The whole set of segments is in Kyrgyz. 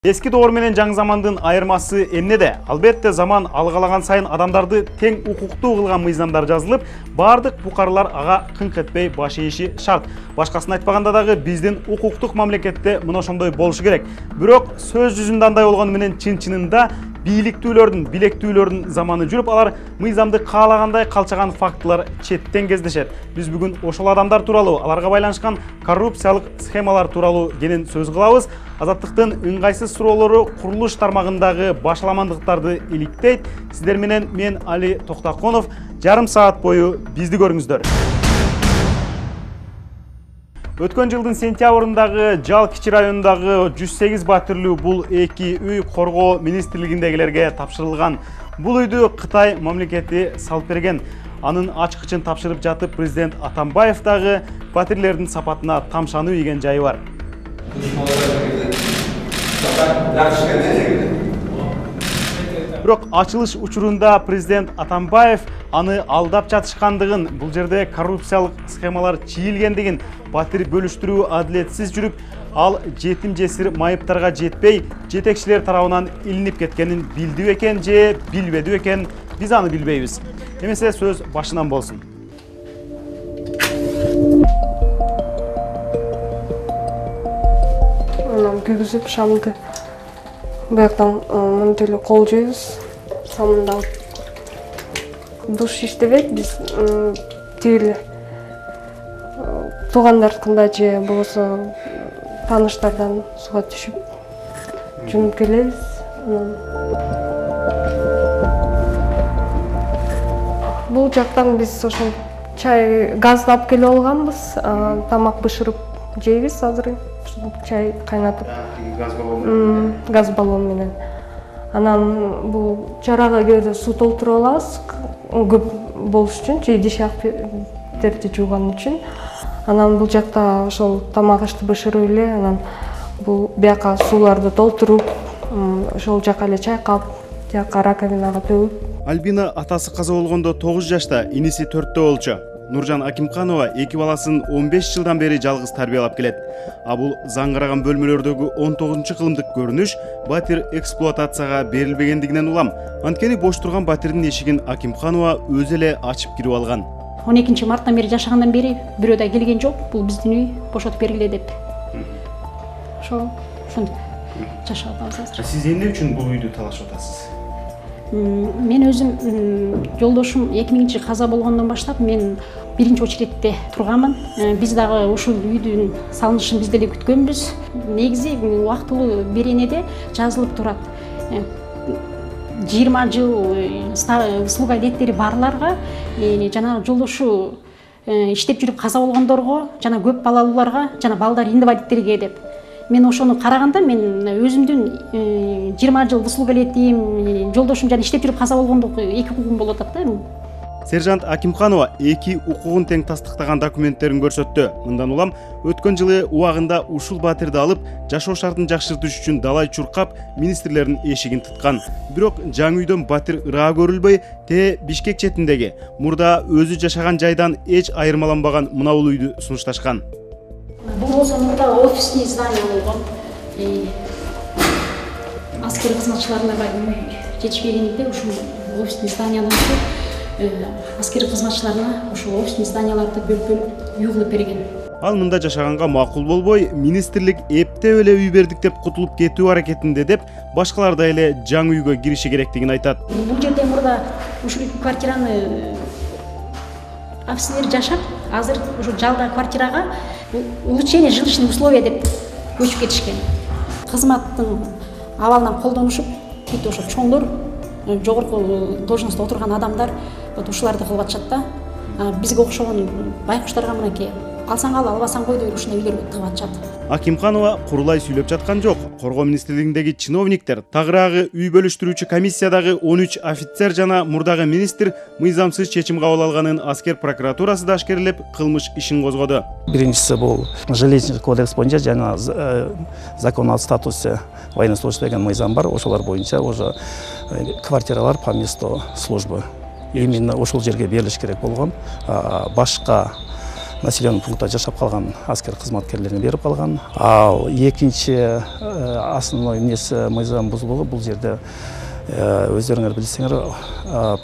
Эски доор менен жаңы замандын айырмасы эмнеде? Албетте заман алгалаган сайын адамдарды тең укуктуу кылган мыйзамдар жазылып, бардык букарлар ага кыңк этпей баш ийиши шарт. Башкасын айтпаганда дагы биздин укуктук мамлекетте мына ошондой болушу керек. Бирок сөз жүзүндө андай болгону менен чын-чынында бийликтүүлөрдүн, билектүүлөрдүн заманы жүрүп, алар мыйзамды каалагандай калчаган фактылар четтен кездешет. Биз бүгүн ошол адамдар тууралуу, аларга байланышкан коррупциялык схемалар тууралуу кенен сөз кылабыз. Азаттыктын ыңгайсыз суроолору курулуш тармагындагы башаламандыктарды иликтейт. Сиздер менен мен Али Токтаконов. Жарым саат бою бизди көрүңүздөр. Өткөн жылдын сентябрындагы Жал кичи районундагы 108 батирлүү бул эки үй коргоо министрлигиндегилерге тапшырылган. Бул үйдү Кытай мамлекети салып берген. Анын ачкычын тапшырып жатып президент Атамбаев дагы батирлердин сапатына тамшануу ийген жайы бар. Бирок ачылыш учурунда президент Атамбаев аны алдап жатышкандыгын, бул жерде коррупциялык схемалар чийилгендигин, батир бөлүштүрүү адилетсиз жүрүп, ал жетим жесир майыптарга жетпей, жетекчилер тарабынан илинип кеткенин билди бекен же билбеди бекен, биз аны билбейбиз. Эмесе сөз башынан болсун. Күйгүзүп шамды бияктан мынтип эле кол жуйбуз. Самында душ иштебейт, биз тиги туугандарыкында же болбосо тааныштардан суга түшүп жуунуп келебиз. Бул жактан биз ошол чай газды алып келип алганбыз, тамак бышырып жейбиз азыр. Чай кайнатып, газ баллон менен. Анан бул чарага кээде суу толтуруп алабыз, көп болуш үчүн, же идиш аяктерди жууган үчүн. Анан бул жакта ошол тамак ашты бышырып эле, анан бул бияка сууларды толтуруп, ошол жака эле чайкап, жака раковинага төгүп. Альбина атасы каза болгондо 9 жашта, иниси 4-тө болчу. Нуржан Акимканова эки баласын 15 жылдан бери жалгыз тарбиялап келет. А бул заңгыраган бөлмөлөрдөгү 19-кылымдык көрүнүш батир эксплуатацияга берилбегендигинен улам. Анткени бош турган батирдин эшигин Акимканова өзү эле ачып кирип алган. 12 марттан бери жашагандан бери бирөө да келген жок. Бул биздин үй, бошотуп бергиле деп. Ошондо жашап атабыз азыр. Сиз эмне үчүн бул үйдү талашып атасыз? Мен өзүм жолдошум 2000-ж каза болгондон баштап мен биринчи очередте турганмын. Биз дагы ушул үйдүн салынышын биз деле күткөнбүз. Негизи убактылуу беренеде жазылып турат. 20 жыл услуга илеттери барларга жана жолдошу иштеп жүрүп каза болгондорго, жана көп балалууларга, жана балдар инвалидтерге деп. Мен ошону караганда мен өзүмдүн 20 жыл услуга илетим, жолдошум жана иштеп жүрүп каза болгондук эки укугум болуп атат да. Сержант Акимканова эки укугун тең тастыктаган документтерин көрсөттү. Мындан улам өткөн жылы убагында ушул батирди алып, жашоо шартын жакшыртыш үчүн далай чуркап, министрлердин эшигин тыткан. Бирок жаңы үйдөн батир ыраа көрүлбөй, Бишкек четиндеги мурда өзү жашаган жайдан эч айырмаланбаган мынабул үйдү сунушташкан. Бул болсо мурда офисный здание болгон. Аскер кызматчыларына жетишпегенде ушул офисный зданияны аскер кызматчыларына ушул офисный зданияларды бөлүп үй кылып берген. Ал мында жашаганга макул болбой, министрлик эптеп эле үй бердик деп кутулуп кетүү аракетинде деп, башкалар да эле жаңы үйгө кириши керектигин айтат. Бул жерде мурда ушул квартираны офиснийлер жашап, азыр ушул жалда квартирага улучшение жилищных условий деп көчүп кетишкен. Кызматтын абалынан колдонушуп, бүт ошо чоңдор, жогорку должностто отурган адамдар ушуларды кылып атышат да. Бизге окшогон байкуштарга мынакей алсаң ал, албасаң кой деп ушундай үйлөр тыгып атышат. Акимканова курулай сүйлөп жаткан жок. Коргоо министрлигиндеги чиновниктер, тагыраагы үй бөлүштүрүүчү комиссиядагы 13 офицер жана мурдагы министр мыйзамсыз чечим кабыл алганын аскер прокуратурасы да ашкерлеп, кылмыш ишин козгоду. Биринчиси бул жилищный кодекс боюнча жана закон о статусе военнослужащих деген мыйзам бар. Ошолор боюнча уже квартиралар по месту службы именно ошол жерге берилиш керек болгон. Башка населенный пунктта жашап калган аскер кызматкерлерине берип калган. Ал экинчи основной эмнеси мыйзам бузулугу бул жерде өздөрүңөр билсеңер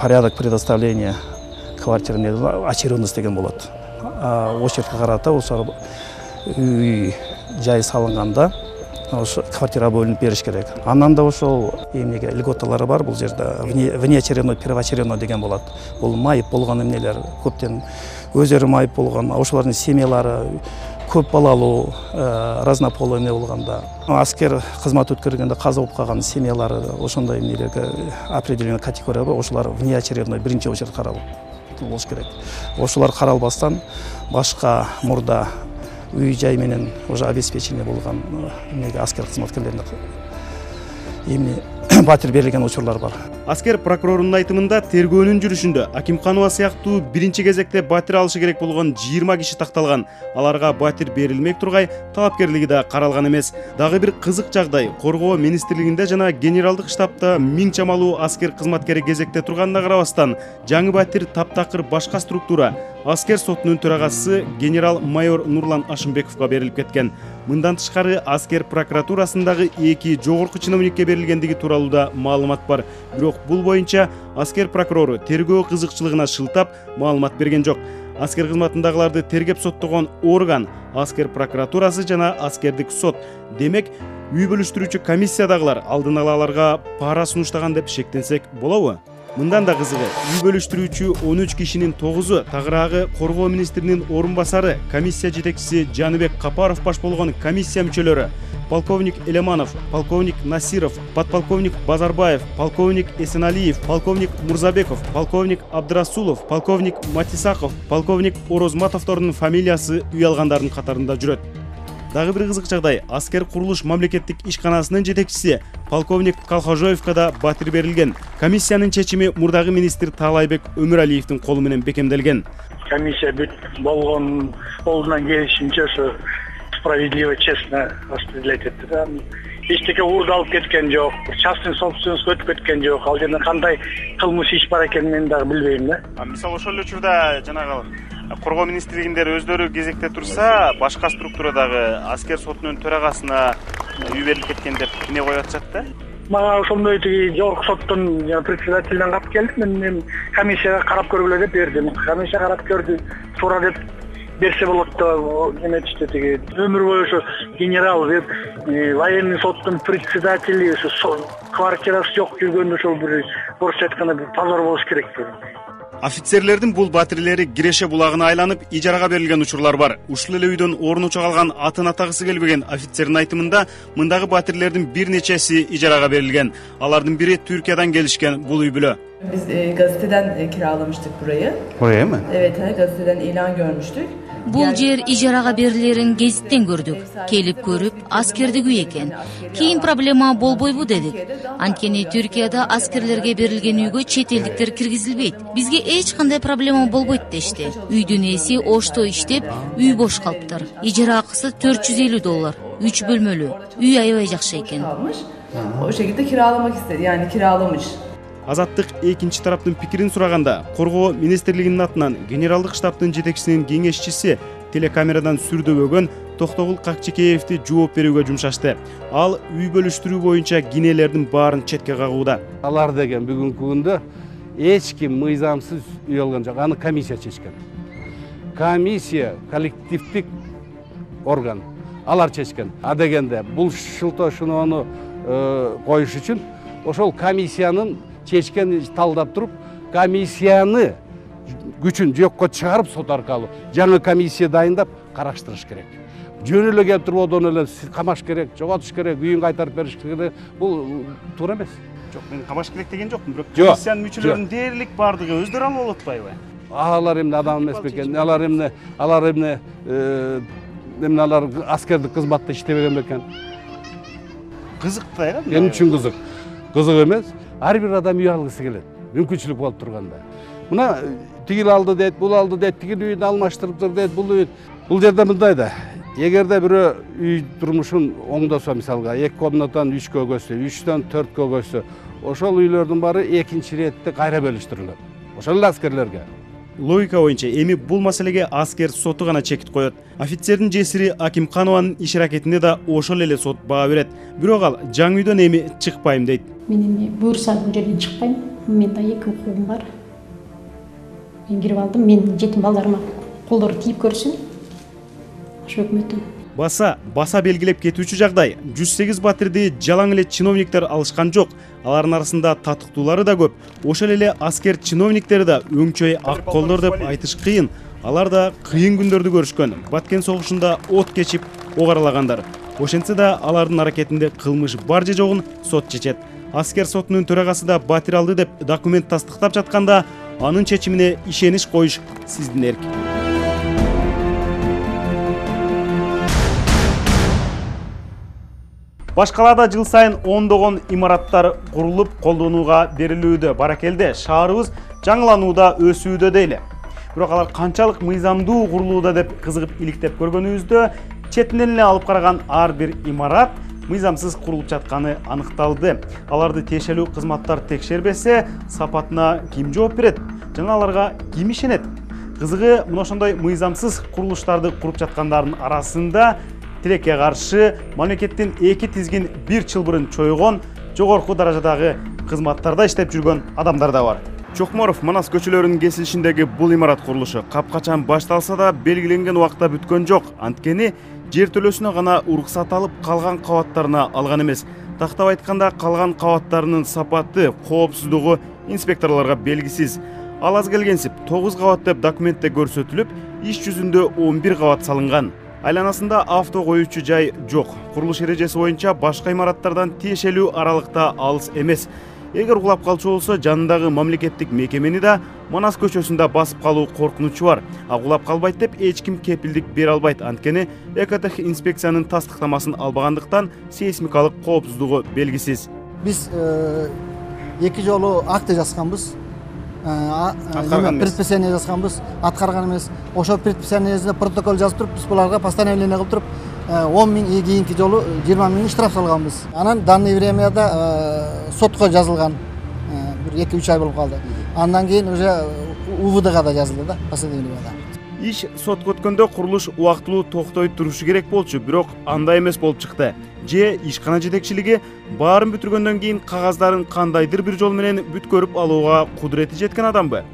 порядок предоставления квартиры очередность деген болот. Очередке карата ошо үй жай салынганда ошо квартира бөлүнүп бериш керек. Андан да ошол эмнеге льготалары бар. Бул жерде внеочередной, первоочередной деген болот. Бул майып болгон эмнелер, көптөн өздөрү майып болгон, ошолордун семьялары көп балалуу, разнополый эмне болгондо, аскер кызмат өткөргөндө каза болуп калган семьялары, ошондой эмнелерге определенный категория бар. Ошолар внеочередной, биринчи очередь каралып болуш керек. Ошолар каралбастан башка мурда үй жай менен уже обеспечение болгон эмнеге аскер кызматкерлерине эмне батир берилген учурлар бар. Аскер прокурорунун айтымында тергөөнүн жүрүшүндө Акимханова сыяктуу биринчи кезекте батир алышы керек болгон 20 киши такталган. Аларга батир берилмек тургай талапкерлиги да каралган эмес. Дагы бир кызык жагдай, Коргоо министрлигинде жана генералдык штабта миң чамалуу аскер кызматкери кезекте турганына карабастан, жаңы батир таптакыр башка структура аскер сотунун төрагасы генерал-майор Нурлан Ашымбековго берилип кеткен. Мындан тышкары аскер прокуратурасындагы 2 жогорку чиновникке берилгендиги тууралуу да маалымат бар. Бирок бул боюнча аскер прокурору тергөө кызыкчылыгына шылтап маалымат берген жок. Аскер кызматындагыларды тергеп соттогон орган аскер прокуратурасы жана аскердик сот. Демек, үй бөлүштүрүүчү комиссиядагылар алдын ала аларга пара сунуштаган деп шектенсек болобу? Мындан да кызыгы, үй бөлүштүрүүчү 13 кишинин 9-у тагыраагы Коргоо министринин орун басары, комиссия жетекчиси Жаныбек Капаров баш болгон комиссия мүчөлөрү: полковник Элеманов, полковник Насиров, подполковник Базарбаев, полковник Эсеналиев, полковник Мурзабеков, полковник Абдрасулов, полковник Матисаков, полковник Орозматовдордун фамилиясы үй алгандардын катарында жүрөт. Дагы бир кызык жагдай, аскер курулуш мамлекеттик ишканасынын жетекчиси полковник Калхожоевго да батир берилген. Комиссиянын чечими мурдагы министр Таалайбек Өмүралиевдин колу менен бекемделген. Комиссия бүт болгон колунан келишинче ошо справедливо, честно распределять этти. Эчтеке уурдалып кеткен жок, частный собственность өтүп кеткен жок. Ал жерде кандай кылмыш иш бар экенин мен дагы билбейм да. Мисалы ошол эле учурда жанагы Коргоо министрлигиндер өздөрү кезекте турса, башка структурадагы аскер сотунун төрагасына үй берилип кеткен деп эмне коюп атышат да? Мага ошондой тиги жогорку соттун председателинен кат келди. Мен комиссияга карап көргүлө деп бердим. Комиссия карап көрдү. Туура деп берсе болот деп эметишти тиги. Өмүр бою ошо генерал деп военный соттун председатели ошо квартирасы жок жүргөндө ошол бир орусча айтканда бир позор болуш керек. Офицерлердин бул батирлери Киреше булагына айланып ижарага берилген учурлар бар. Ушул эле үйдөн орнуча калган атын атагысы келбеген офицердин айтымында мындагы батирлердин бир нечеси ижарага берилген. Алардын бири Түркиядан келишкен бул үй бүлө. Biz gazeteden kiralamıştık burayı. Buraya mı? Evet, gazeteden ilan görmüştük. Бул жер ижарага берилерин гезиттен көрдүк. Келип көрүп, аскердик үй экен. Кийин проблема болбойбу дедик. Анткени Түркияда аскерлерге берилген үйгө чет элдиктер киргизилбейт. Бизге эч кандай проблема болбойт дешти. Үйдүн ээси ошто иштеп, үй бош калыптыр. Ижара акысы $450. 3 бөлмөлүү. Үй аябай жакшы экен. O şekilde kiralamak istedi. Yani kiralamış. Азаттык экинчи тараптын пикирин сураганда, Коргоо министрлигинин атынан генералдык штабтын жетекчисинин кеңешчиси телекамерадан сүрдөбөгөн Токтогул Какчекеевди жооп берүүгө жумшашты. Ал үй бөлүштүрүү боюнча кинелердин баарын четке кагууда. Алар деген бүгүнкү күндө эч ким мыйзамсыз үй алган жок. Аны комиссия чечкен. Комиссия коллективдик орган. Алар чечкен. А дегенде бул шылтоо коюш үчүн ошол комиссиянын чечкен талдап туруп, комиссияны күчүн жокко чыгарып сот аркылуу жаңы комиссия дайындап караштырыш керек. Жөн эле келип туруп одон эле камаш керек, жоготуш керек, үйүн кайтарып бериш керек. Бул туура эмес. Жок, мен камаш керек деген жокмун, бирок комиссиянын мүчөлөрүнүн дээрлик бардыгы өздөрү алып алып атпайбы? Алар эмне адам эмес бекен? Алар аскердик кызматта иштебеген бекен? Кызык да, мен үчүн кызык. Кызык эмес. Ар бир адам үй алгысы келет. Мүмкүнчүлүк болуп турганда. Мына тигил алды дейт, бул алды дейт, тигил үйүн алмаштырыптыр дейт, бул үй. Бул жерде мындай да. Эгерде бирөө үй турмушун оңдосо, мисалга 2 комнатадан 3кө көчсө, 3төн 4кө көчсө, ошол үйлөрдүн баары экинчи иретте кайра бөлүштүрүлөт. Ошол эле аскерлерге. логика боюнча эми бул маселеге аскер соту гана чекит коет. Офицердин жесири Акимканованын иш аракетине да ошол эле сот баа берет. Бирок ал жаңы үйдөн эми чыкпайм дейт. Мен эми буюрса бул жерден чыкпайм. Менде 2 укугум бар. Мен кирип алдым. Мен жетим балдарыма колдору тийип көрсүн. Ошо өкмөттүн. Баса белгилеп кетүүчү жагдай. 108 батирди жалаң эле чиновниктер алышкан жок. Алардын арасында татыктуулары да көп. Ошол эле аскер чиновниктери да өңчөй ак колдор деп айтыш кыйын. Алар да кыйын күндөрдү көрүшкөн. Баткен согушунда от кечип, ок аралагандар. Ошентсе да алардын аракетинде кылмыш бар же жогун сот чечет. Аскер сотунун төрагасы да батир алды деп документ тастыктап жатканда, анын чечимине ишениш коюш сиздин эрк. Баш калаада жыл сайын ондогон имараттар курулуп колдонууга берилүүдө. Баракелде шаарыбыз жаңыланууда, өсүүдө дейле. Бирок алар канчалык мыйзамдуу курулууда деп кызыгып иликтеп көргөнүбүздө, четинен эле алып караган ар бир имарат мыйзамсыз курулуп жатканы аныкталды. Аларды тиешелүү кызматтар текшербесе, сапатына ким жооп берет? Жана аларга ким ишенет? Кызыгы, мына ошондой мыйзамсыз курулуштарды куруп жаткандардын арасында тилекке каршы мамлекеттин 2 тизгин 1 чылбырын чойгон, жогорку даражадагы кызматтарда иштеп жүргөн адамдар да бар. Чокморов Манас көчөлөрүнүн кесилишиндеги бул имарат курулушу капкачан башталса да белгиленген убакта бүткөн жок. Анткени жер төлөөсүнө гана уруксат алып, калган кабаттарына алган эмес. Тактап айтканда, калган кабаттарынын сапаты, коопсуздугу инспекторлорго белгисиз. Ал аз келгенсип 9 кабат деп документте көрсөтүлүп, иш жүзүндө 11 кабат салынган. Айланасында авто коюучу жай жок. Курулуш эрежеси боюнча башка имараттардан тиешелүү аралыкта алыс эмес. Эгер кулап калчу болсо, жанындагы мамлекеттик мекемени да Манас көчөсүндө басып калуу коркунучу бар. А кулап калбайт деп эч ким кепилдик бере албайт. Анткени экотех инспекциянын тастыктамасын албагандыктан сейсмикалык коопсуздугу белгисиз. Биз 2 жолу акт жазганбыз. Предписание жазганбыз, аткарган эмес. Ошо предписаниеде протокол жазып туруп, биз буларга постановление кылып туруп 10 миң, кийинки жолу 20 миң штраф салганбыз. Анан данный времяда сотко жазылган. Бир 2-3 ай болуп калды. Андан кийин уже УВДга да жазылды да, постановлениеда. Иш сотко өткөндө курулуш убактылуу токтой турушу керек болчу, бирок андай эмес болуп чыкты. Же ишкана жетекчилиги баарын бүтүргөндөн кийин кагаздарын кандайдыр бир жол менен бүткөрүп алууга кудурети жеткен адамбы?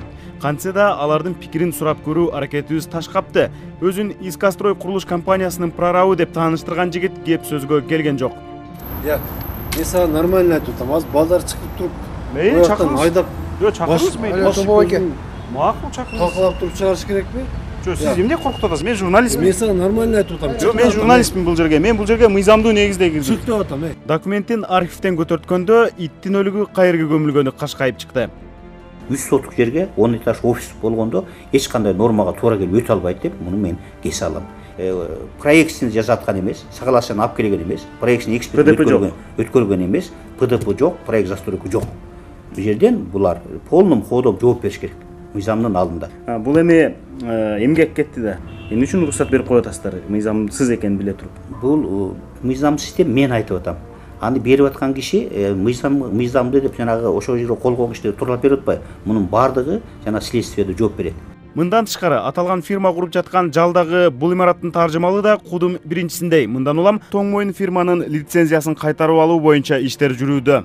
Кантсе да алардын пикирин сурап көрүү аракетибиз таш капты. Өзүн Искастрой курулуш компаниясынын прорабы деп тааныштырган жигит кеп сөзгө келген жок. Я сага нормально айтып атам, аз балдар чыгып туруп, мейли чакырыңыз. Айдап. Жок, чакырыңыз мейли. Макул чакырыңыз. Талкалап туруп чыгарыш керекпи? Жок, сиз эмне коркутуп атасыз? Мен журналистмин. Мен сага нормально айтып атам. Жок, мен журналистмин бул жерге. Мен бул жерге мыйзамдуу негизде кирдим. Чык деп атам. Документтин архивден көтөрткөндө иттин өлүгү кайерге көмүлгөнү кашкайып чыкты. 100 сотук жерге 10 этаж офис болгондо эч кандай нормага туура келип өтө албайт деп муну мен кесе алам. Проектин жазаткан эмес, соглашение алып келген эмес, проектин эксперт өткөргөн эмес, ПДП жок, проект застройка жок. Бул жерден булар полным ходом жооп бериш керек мыйзамдын алдында. Бул эми эмгек кетти да. Эмне үчүн уруксат берип коюп атасыздар? Мыйзамсыз экенин биле туруп. Бул мыйзамсыз деп мен айтып атам. Аны берип аткан киши мыйзамды деп жанагы ошол жерге кол койгон кишилер тууралап берип атпайбы? Мунун баардыгы жана следствиеде жооп берет. Мындан тышкары аталган фирма куруп жаткан жалдагы бул имараттын таржымалы да кудум биринчисиндей. Мындан улам Тоң Моюн фирманын лицензиясын кайтарып алуу боюнча иштер жүрүүдө.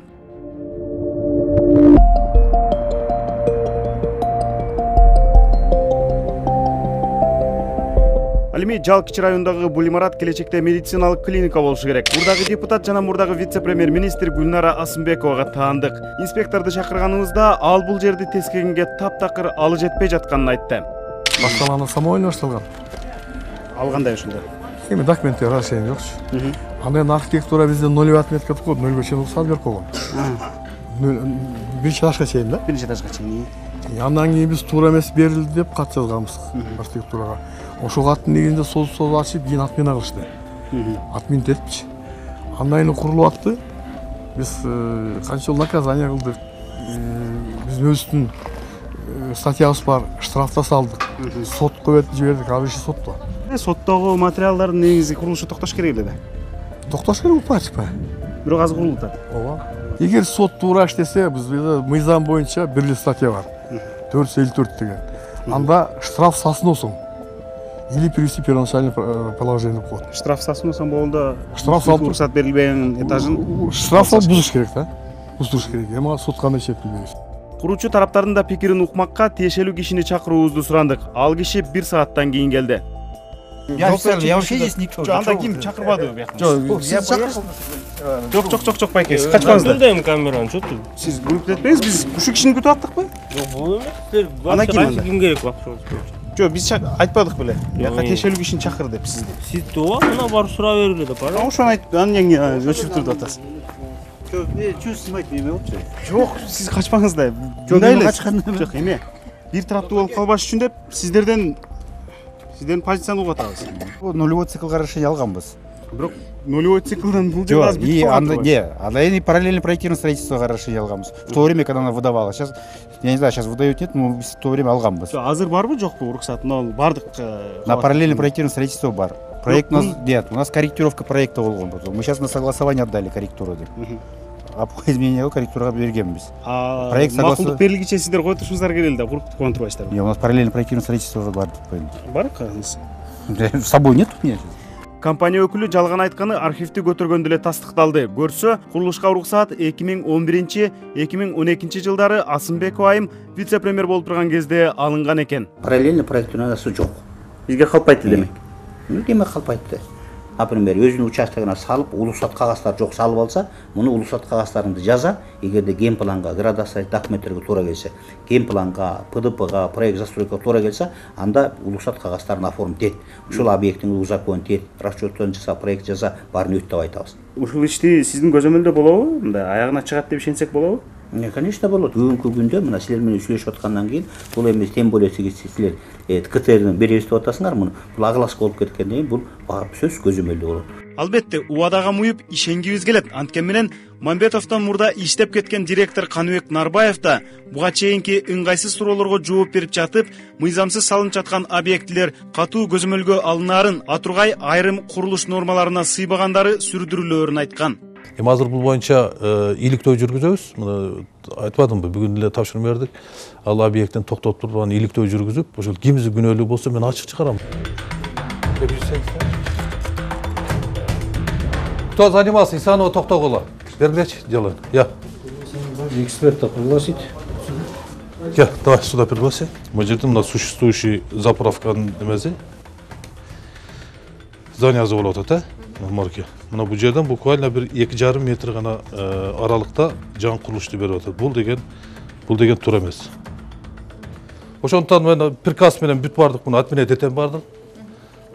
Ал эми Жалкычы районундагы бул имарат келечекте медициналык клиника болушу керек. Мурдагы депутат жана мурдагы вице-премьер-министр Гүлнара Асымбековага таандык. Инспекторду чакырганыбызда ал бул жерди тескегенге таптакыр алы жетпей жатканын айтты. Башталганы самойло башталган. Ал кандай ошондо? Эми документтер расчет жокчу. Андан архитектура бизде 0 отметка коюп, 0 чейин уруксат берип койгон. 1 этажга чейин да? 1 этажга чейин. Андан кийин биз туура эмес берилди деп кат жазганбыз архитектурага. Ошол каттын негизинде соз ачып, кийин отмена кылышты. Отмен этипчи. Андан кийин курулуп атты. Биз канча жыл наказание кылдык. Биздин өзүбүздүн статьябыз бар, штраф да салдык. Сотко берип жибердик, ал иши сотто. Соттогу материалдардын негизи курулушу токтош керек эле да. Токтош керек болуп атпайбы? Бирок азыр курулуп атат. Ооба. Эгер сот туура иштесе, бизде мыйзам боюнча бир эле статья бар. 454 деген. анда штраф сасыносуң или привести первоначальное положение деп коет. Штраф сасыносуң болгондо Штраф салып уруксат берилбеген этажын штраф салып бузуш керек да. Бузуш керек. Эми суд кандай чечим берет. Куручу тараптардын да пикирин укмакка тиешелүү кишини чакыруубузду сурандык. Ал киши 1 сааттан кийин келди. Я вообще здесь никто. Анда ким чакырбады бияка? Жок, байке, сиз качпаңыздар. Билдем камераны, чөтү. Сиз күрүп кетпеңиз, биз ушул кишини күтүп аттыкпы? Жок, бул эмес. Ана ким керек бакчаңыз? Жок, биз айтпадык беле. Бияка тиешелүү кишини чакыр деп сизди. Сиз тоо, мына барып сурап бергиле деп бара. Ошону айтып, анан өчүрүп турду атасыз. Чү снимать неме болчу? Жок, сиз качпаңыз да. Жок, эме. Бир тараптуу болуп калбаш үчүн деп сиздерден позицияны угуп атабыз. Нулевой циклга разрешение алганбыз. Бирок нулевой циклдан бул жерде аз бүтүп калган. Анда эми параллельно проектирование строительствого разрешение алганбыз. В то время, когда она выдавала. Сейчас, я не знаю, сейчас выдают нет, но в то время алганбыз. Азыр барбы, жокпу уруксат? Бардык. На параллельно проектирование строительство бар. Проект у нас нет, у нас корректировка проекта болгон. Мы сейчас на согласование отдали корректуру деп. А по изменению корректурага бергенбиз. Проект макулдук берилгиче сиздер кой турушуңуздар келели да, куртуп турбайсыздарбы? У нас параллельно проектирование строительство бар деп коюм. Бар кагыңыз? С собой нет у меня. Компания өкүлү жалган айтканы архивди көтөргөндө эле тастыкталды. Көрсө, курулушка уруксаат 2011-2012 жылдары Асымбеков айым вице-премьер болуп турган кезде алынган экен. Параллельно проектироваться жок. Бизге калпайт демек. Неме калпайтты? Например, өзүнүн участогуна салып, улуусат кагаздар жок салып алса, муну улуусат кагаздарыңды жаза, эгерде ген планга, градация документтерге туура келсе, ген планга, ПДПга, проект застройкага туура келсе, анда улуусат кагаздарын оформить эт. Ушул объекттин узаконун эт, расчёттон жаса, проект жаза, баарын өт деп айтабыз. Ушул ишти сиздин көзөмөлдө болобу? Мындай аягына чыгат деп ишенсек болобу? Конечно, болот. Бүгүнкү күндө мына силер менен сүйлөшүп аткандан кийин бул эмес, тем более силер КТРдин беребиз деп атасыңар, муну бул огласка болуп кеткенден кийин бул барып сөз көзөмөлдө болот. Албетте, убадага муюп ишенгибиз келет. Анткени менен Мамбетовдон мурда иштеп кеткен директор Каныбек Нарбаев да буга чейинки ыңгайсыз суроолорго жооп берип жатып, мыйзамсыз салынып жаткан объектилер катуу көзөмөлгө алынаарын, атургай айрым курулуш нормаларына сыйбагандары сүрдүрүлөөрүн айткан. Эми азыр бул боюнча иликтөө жүргүзөбүз. Мына айтпадымбы, бүгүн эле тапшырма бердик. Ал объекттин токтотуп туруп, аны иликтөө жүргүзүп, ошол кимиси күнөөлүү болсо мен ачык чыгарам. Кто занимался Исанова Токтогула? Бергилечи, делаем. Я. Эксперта пригласить. Я, давай сюда пригласи. Мы жерде мына существующий заправканын немеси. Здание завод атат, марке. Мына бул жерден буквально бир 2,5 метр гана аралыкта жаңы курулушту берип атат. Бул деген туура эмес. Ошондуктан мен приказ менен бүт бардык, муну отменять этем бардык.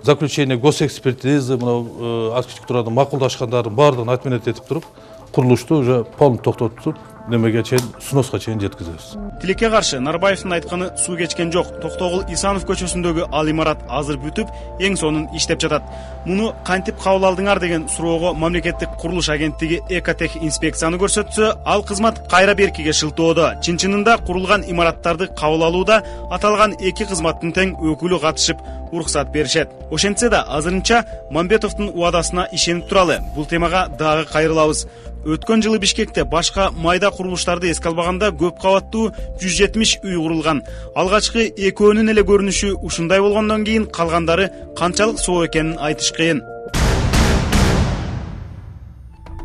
Заключение госэкспертизы, мына архитектурадан макулдашкандарын баардыгын отменять этип туруп, курулушту уже полностью токтотуп, немеге чейин, сноска чейин жеткизебиз. Тилекке каршы Нарбаевдин айтканы суу кечкен жок. Токтогул Исанов көчөсүндөгү ал имарат азыр бүтүп, эң сонун иштеп жатат. Муну кантип кабыл алдыңар деген суроого мамлекеттик курулуш агенттиги Экотех инспекцияны көрсөтсө, ал кызмат кайра беркиге шылтоодо. Чын-чынында курулган имараттарды кабыл алууда аталган эки кызматтын тең өкүлү катышып, уруксат беришет. Ошентсе да азырынча Мамбетовдун убадасына ишенип туралы. Бул темага дагы кайрылабыз. Өткөн жылы Бишкекте башка майда курулуштарды эске албаганда көп кабаттуу 170 үй курулган. Алгачкы экөөнүн эле көрүнүшү ушундай болгондон кийин калгандары канчалык соо экенин айтыш кыйын.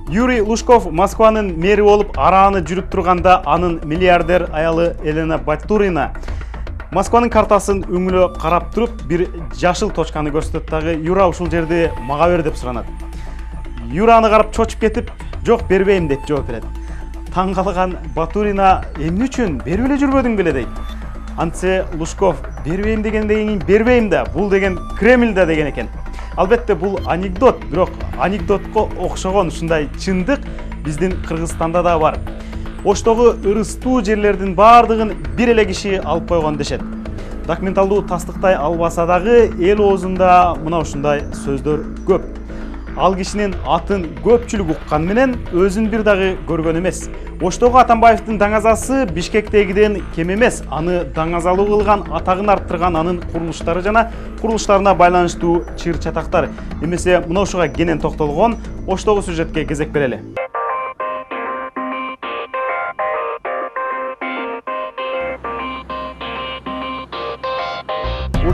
Юрий Лужков Москванын мэри болуп арааны жүрүп турганда анын миллиардер аялы Елена Батурина Москванын картасын өңүлө карап туруп бир жашыл точканы көрсөтөт дагы Юра ушул жерди мага бер деп суранат. Юра аны карап чочуп кетип, жок бербейм деп жооп берет. Таң калган Батурина эмне үчүн берип эле жүрбөдүң беле дейт. Антсе Лужков бербейм дегенден кийин бербейм да, бул деген Кремль да деген экен. Албетте бул анекдот, бирок анекдотко окшогон ушундай чындык биздин Кыргызстанда да бар. Оштогу ырыстуу жерлердин баардыгын бир эле киши алып койгон дешет. Документалдуу тастыктай албаса дагы эл оозунда мына ушундай сөздөр көп. Ал кишинин атын көпчүлүк уккан менен өзүн бир дагы көргөн эмес. Оштогу Атамбаевдин даңазасы Бишкектегиден кем эмес. Аны даңазалуу кылган, атагын арттырган анын курулуштары жана курулуштарына байланыштуу чыр чатактар. Эмесе мына ушуга кенен токтолгон Оштогу сюжетке кезек берели.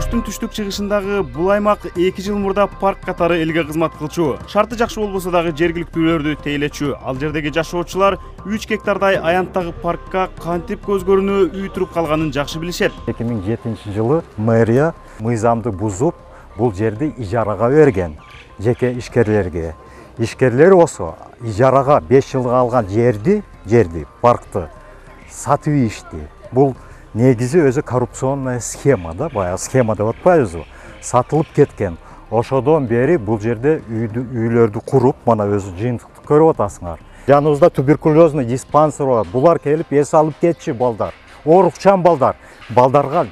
Оштун түштүк чыгышындагы бул аймак 2 жыл мурда парк катары элге кызмат кылчу. Шарты жакшы болбосо дагы жергиликтүүлөрдү тейлечү. Ал жердеги жашоочулар 3 гектардай аянттагы паркка кантип көз көрүнүү үй туруп калганын жакшы билишет. 2007-жылы мэрия мыйзамды бузуп, бул жерди ижарага берген жеке ишкерлерге. Ишкерлер болсо ижарага 5 жылга алган жерди, паркты сатып ийишти. Бул негизи өзү коррупционная схема да, баягы схема деп атпайбызбы? Сатылып кеткен. Ошодон бери бул жерде үйлөрдү куруп, мана өзү жыйынтыкты көрүп атасыңар. Жаныбызда туберкулезный диспансер бар. Булар келип эс алып кетчү балдар. Оорукчан балдар. Балдарга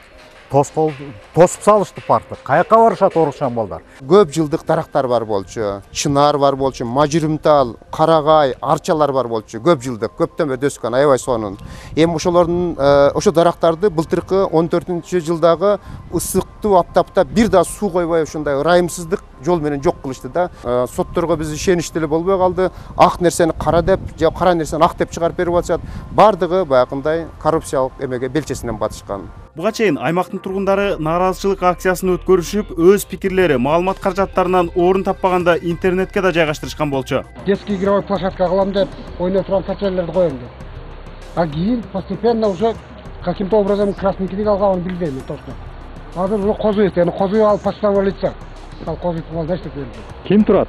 тосуп салышты паркты. Каяка барышат оорукчан балдар? Көп жылдык дарактар бар болчу, чынар бар болчу, мажырымтал, карагай, арчалар бар болчу. Көп жылдык, көптөн бери өскөн, аябай сонун. Эми ошолордун ошо дарактарды былтыркы 14-жылдагы ысыктуу аптапта бир да суу койбой ушундай ырайымсыздык жол менен жок кылышты да. Сотторго биз ишеничтүү эле болбой калды. Ак нерсени кара деп, же кара нерсени ак деп чыгарып берип атышат. Бардыгы баягындай коррупциялык эмеге белчесинен батышкан. Буга чейин аймактын тургундары нааразычылык акциясын өткөрүшүп, өз пикирлери, маалымат каражаттарынан орун таппаганда интернетке да жайгаштырышкан болчу. Детский игровой площадка кылам деп, ойноп турган качелерди коем деп. А кийин постепенно уже каким-то образом красный книг алганын билбейм точно. Азыр уже козуйт, козуй алып почтовый лицо. Ал козуй кылганда иштеп берди. Ким турат?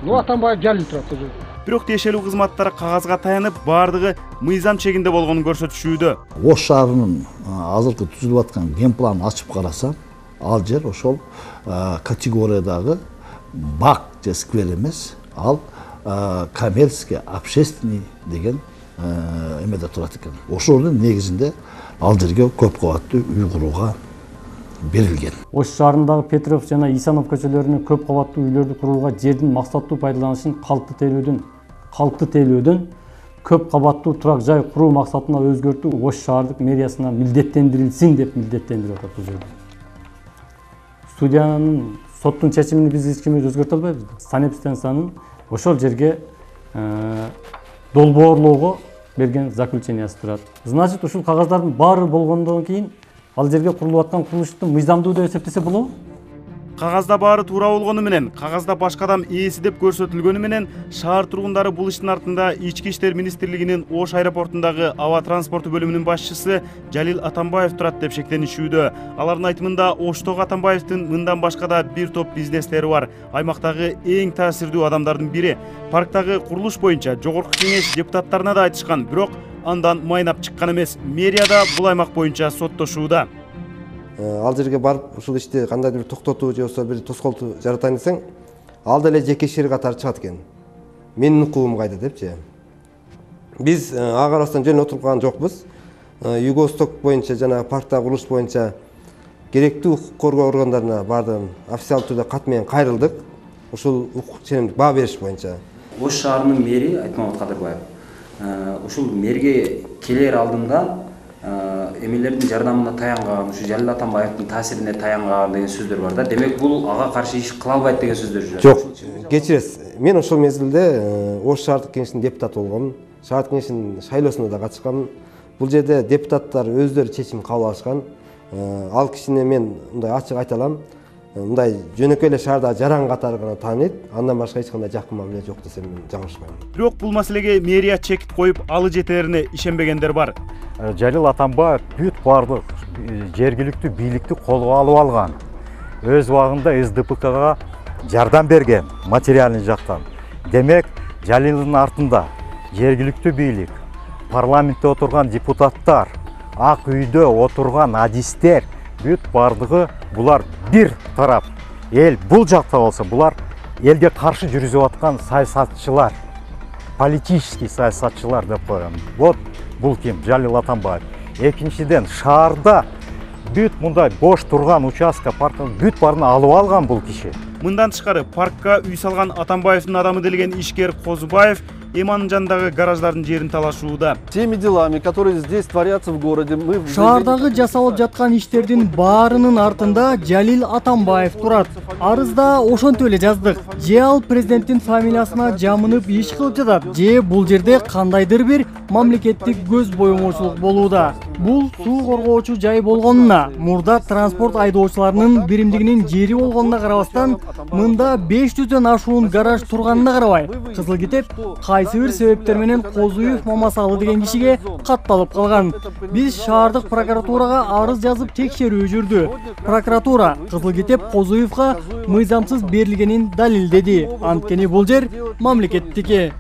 Ну, Атамбаев Жалил турат уже. Бирок тиешелүү кызматтар кагазга таянып, бардыгы мыйзам чегинде болгонун көрсөтүшүүдө. Ош шаарынын азыркы түзүлүп аткан ген планын ачып карасам, ал жер ошол категориядагы бак же сквер эмес, ал коммерческий, общественный деген эмеде турат экен. Ошонун негизинде ал жерге көп кабаттуу үй курууга берилген. Ош шаарындагы Петров жана Исанов көчөлөрүнө көп кабаттуу үйлөрдү курууга жердин максаттуу пайдаланышын калкты тейлөөдөн көп кабаттуу турак жай куруу максатына өзгөртүү Ош шаардык мэриясына милдеттендирилсин деп милдеттендирип атат бул жерде. Судьянын соттун чечимин биз эч ким өзгөртө албайбыз. Санэпстанциянын ошол жерге долбоорлоого берген заключениясы турат. Значит, ушул кагаздардын баары болгондон кийин ал жерге курулуп аткан курулушту мыйзамдуу деп эсептесе болобу? Кагазда баары туура болгону менен, кагазда башка адам ээси деп көрсөтүлгөнү менен, шаар тургундары бул иштин артында Ички иштер министрлигинин Ош аэропортундагы аба транспорту бөлүмүнүн башчысы Жалил Атамбаев турат деп шектенишүүдө. Алардын айтымында Оштогу Атамбаевдин мындан башка да бир топ бизнестери бар. Аймактагы эң таасирдүү адамдардын бири. Парктагы курулуш боюнча жогорку кеңеш депутаттарына да айтышкан, бирок андан майнап чыккан эмес. Мэрия да бул аймак боюнча соттошууда. Ал жерге барып ушул ишти кандайдыр бир токтотуу же болбосо бир тоскоолтуу жаратайын десең, ал деле жеке ишке катары чыгат экен. Менин укугум кайда депчи. Биз ага карабастан жөн отуруп калган жокпуз. Юго-Восток боюнча жана парктагы курулуш боюнча керектүү укук коргоо органдарына бардыгын официалдуу түрдө кат менен кайрылдык. Ушул укук ченемдик баа бериш боюнча. Ош шаарынын мэри Айтмамат Кадырбаев ушул мэрге келер алдында эмелердин жардамына таянган, ушу Жалил Атамбаевдин таасирине таянган деген сөздөр бар да. Демек бул ага каршы иш кыла албайт деген сөздөр жүрөт. Жок, кечиресиз. Мен ошол мезгилде Ош шаардык кеңешинин депутаты болгом. Шаардык кеңешинин шайлоосуна да катышкам. Бул жерде депутаттар өздөрү чечим кабыл алышкан. Ал кишини мен мындай ачык айта алам. Мындай жөнөкөй эле шаарда жаран катары гана тааныйт. Андан башка эч кандай жакын мамиле жок десем мен жаңылышпайм. Бирок бул маселеге мэрия чекит коюп, алы жетерине ишенбегендер бар. Жалил Атамбаев бүт бардык жергиликтүү бийликти колго алып алган. Өз убагында СДПКга жардам берген материальный жактан. Демек, Жалилдин артында жергиликтүү бийлик, парламентте отурган депутаттар, ак үйдө отурган адистер, бүт бардыгы булар бир тарап. Эл бул жакта болсо, булар элге каршы жүргүзүп аткан саясатчылар, политический саясатчылар деп коем. Вот бул ким? Жалил Атамбаев. Экинчиден, шаарда бүт мындай бош турган участка, парктын бүт барын алып алган бул киши. Мындан тышкары паркка үй салган Атамбаевдин адамы делген ишкер Козубаев эми анын жанындагы гараждардын жерин талашууда. Теми делами, которые здесь творятся в городе, мы... Шаардагы жасалып жаткан иштердин баарынын артында Жалил Атамбаев турат. Арызда ошонтип эле жаздык. Же ал президенттин фамилиясына жамынып иш кылып жатат, же бул жерде кандайдыр бир мамлекеттик көз боемоочулук болууда. Бул суу коргоочу жай болгонуна, мурда транспорт айдоочуларынын биримдигинин жери болгонуна карабастан, мында 500дөн ашуун гараж турганына карабай, Кызыл Китеп кайсы бир себептер менен Козуев Мамасалы деген кишиге катталып калган. Биз шаардык прокуратурага арыз жазып текшерүү жүрдү. Прокуратура Кызыл Китеп Козуевга мыйзамсыз берилгенин далилдеди. Анткени бул жер мамлекеттики.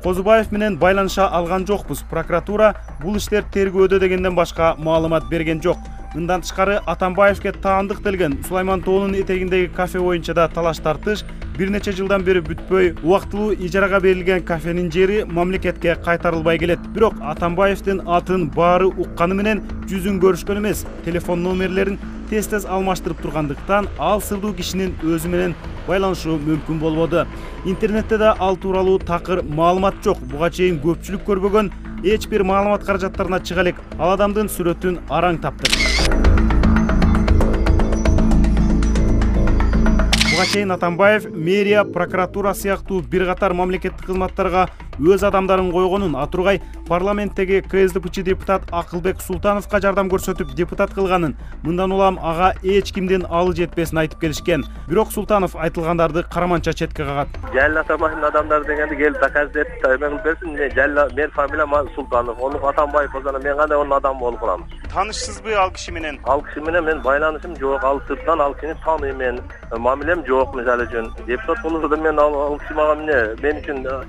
Козубаев менен байланыша алган жокпуз. Прокуратура бул иштер тергөөдө дегенден башка маалымат берген жок. Мындан тышкары Атамбаевке таандык делген Сулайман тоонун этегиндеги кафе боюнча да талаш тартыш бир нече жылдан бери бүтпөй, убактылуу ижарага берилген кафенин жери мамлекетке кайтарылбай келет. Бирок Атамбаевдин атын баары укканы менен жүзүн көрүшкөн эмес, телефон номерлерин тез-тез алмаштырып тургандыктан ал сырдуу кишинин өзү менен байланышуу мүмкүн болбоду. Интернетте да ал тууралуу такыр маалымат жок. Буга чейин көпчүлүк көрбөгөн эч бир маалымат каражаттарына чыга элек ал адамдын сүрөтүн араң таптык. Буга чейин Атамбаев мэрия, прокуратура сыяктуу бир катар мамлекеттик кызматтарга өз адамдарын койгонун, атургай парламенттеги КСДПчы депутат Акылбек Султановго жардам көрсөтүп депутат кылганын, мындан улам ага эч кимдин алы жетпесин айтып келишкен. Бирок Султанов айтылгандарды караманча четке кагат. Жалил Атамбаевдин адамдары дегенди келип доказать этип, мен берсин, менин фамилиям Султанов, onu Атамбаев болсо мен кандай onun адамы болуп калам. Танышсызбы ал киши менен? Ал киши менен мен байланышым жок, ал сырттан ал кишини тааныйм мен. Мамилем жок мисалы үчүн. Депутат болсо мен ал киши мага мен үчүн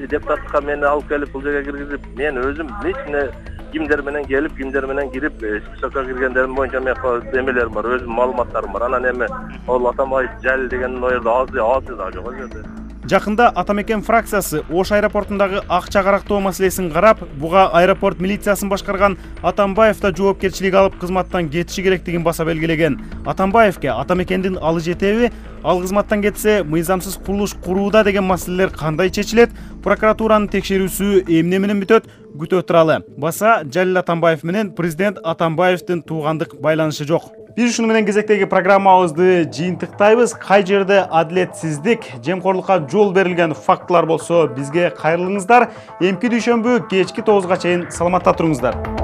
депутатка мени алып келип бул жерге киргизип, мен өзүм лично кимдер менен келип, кимдер менен кирип, списокко киргендерим боюнча мен эмелерим бар, өзүм маалыматтарым бар. Анан эми ал Атамбаев Жалил деген оерде аты да жок жерде. Жакында Атамекен фракциясы Ош аэропортундагы акча карактоо маселесин карап, буга аэропорт милициясын башкарган Атамбаев да жоопкерчилик алып кызматтан кетиши керектигин баса белгилеген. Атамбаевке Атамекендин алы жетеби, ал кызматтан кетсе мыйзамсыз курулуш курууда деген маселелер кандай чечилет? Прокуратуранын текшерүүсү эмне менен бүтөт? Күтө туралы. Баса Жалил Атамбаев менен президент Атамбаевдин туугандык байланышы жок. Биз ушуну менен кезектеги программабызды жыйынтыктайбыз. Кай жерде адилетсиздик, жемкорлукка жол берилген фактылар болсо бизге кайрылыңыздар. Эмки дүйшөмбү кечки 9га чейин саламатта туруңуздар.